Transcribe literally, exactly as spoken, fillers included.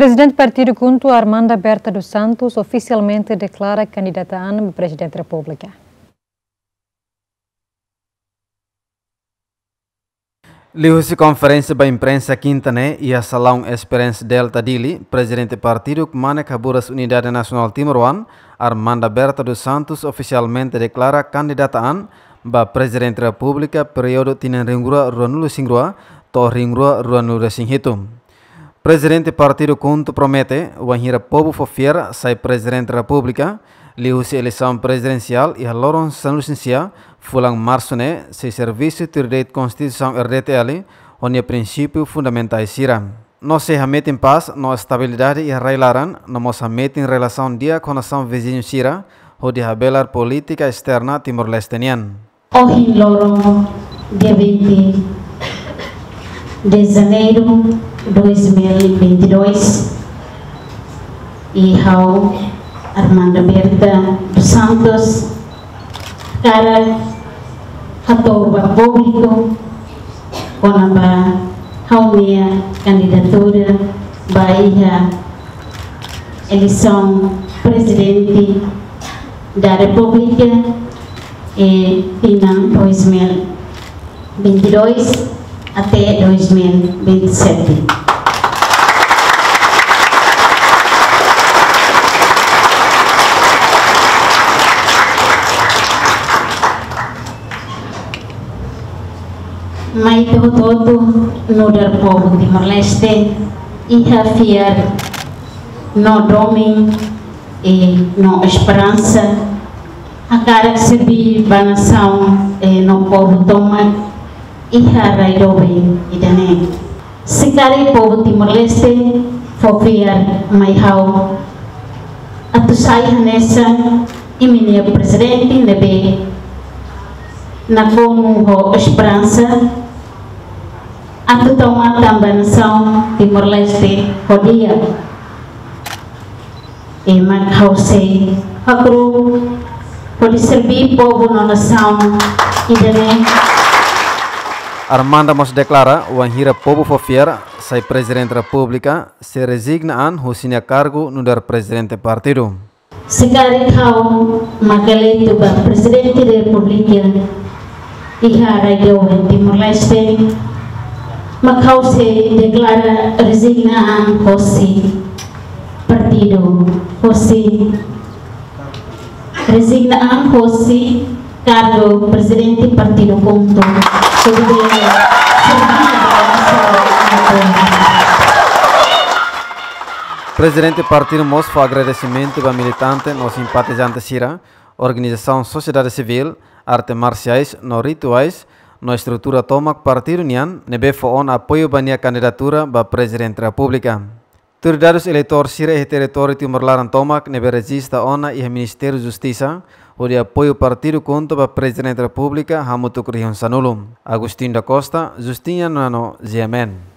Prezidente Partidu KHUNTO, Armanda Berta dos Santos, ofisialmente deklara kandidata an ba Prezidente Repúblika. Liuhusi konferénsia ba imprensa kinta ne'e iha salaun Experience Delta Dili, Prezidente Partidu Kmanek Haburas Unidade Nasionál Timoroan, Armanda Berta dos Santos, ofisialmente deklara kandidata an ba Prezidente Repúblika períodu tinan rihun rua ruanulu-resin-rua to'o rihun rua ruanulu-resin-hitu. Prezidente Partidu KHUNTO promete, wainhira povu fó fiar sai Prezidente Repúblika, liuhusi eleisaun prezidensiál iha loron sanulu-resin-sia fulan Marsu ne'e, sei servisu tuir de'it Konstituisaun R D T L ho nia prinsípiu fundamentais sira. No sei hametin pás no estabilidade iha rai-laran, no mós hametin relasaun di'ak ho nasaun viziñu sira, hodi habelar polítika esterna Timor-Leste nian. Ohin loron, dia vinte de janeiro dois mil e vinte e dois, i ha'u, Armanda Berta dos Santos, hakarak hato'o ba públiku kona-ba ha'u-nia kandidatura ba iha eleisaun Prezidente da Repúblika, eh, tinan dois mil e vinte e dois até dois mil e vinte e sete. Mai ita hotu-hotu nu'udar povu Timor-Leste iha fiar no domin, eh, no esperansa, hakarak serbí ba nasaun, eh, no povu tomak iha rai doben ida-ne'e. Se karik povu Timor-Leste fó fiar mai ha'u atu sai hanesan imi-nia prezidente ne'ebé nakonu ho esperansa atu tau matan ba nasaun Timor-Leste ho di'ak. I mak ha'u sei hakru'uk hodi serbí povu no nasaun ida-ne'e. Armanda mós deklara, wainhira povu fó fiar sai Prezidente Repúblika, sei rezigna an husi nia kargu nu'udar Prezidente Partidu. Se karik ha'u mak eleitu ba Prezidente Repúblika iha rai doben Timor-Leste, mak ha'u sei deklara rezigna an hosi partidu, hosi rezigna an hosi kargu Prezidente Partidu KHUNTO. Hodi bele serbí ba nasaun. Prezidente Partidu mós fó agradesimentu ba militante no simpatizante sira, organizasaun sosiedade sivíl, arte marsiais no rituais, no estrutura tomak partidu nian, ne'ebé fó ona apoiu ba nia kandidatura ba Prezidente Repúblika. Tuir dadus eleitór sira iha territóriu Timor-Leste tomak ne'ebé rejista ona iha Ministériu Justisa, hodi apoiu Partidu KHUNTO ba Prezidente Repúblika hamutuk rihun sanulu. Agostinho da Costa, Justina Nano, G M N.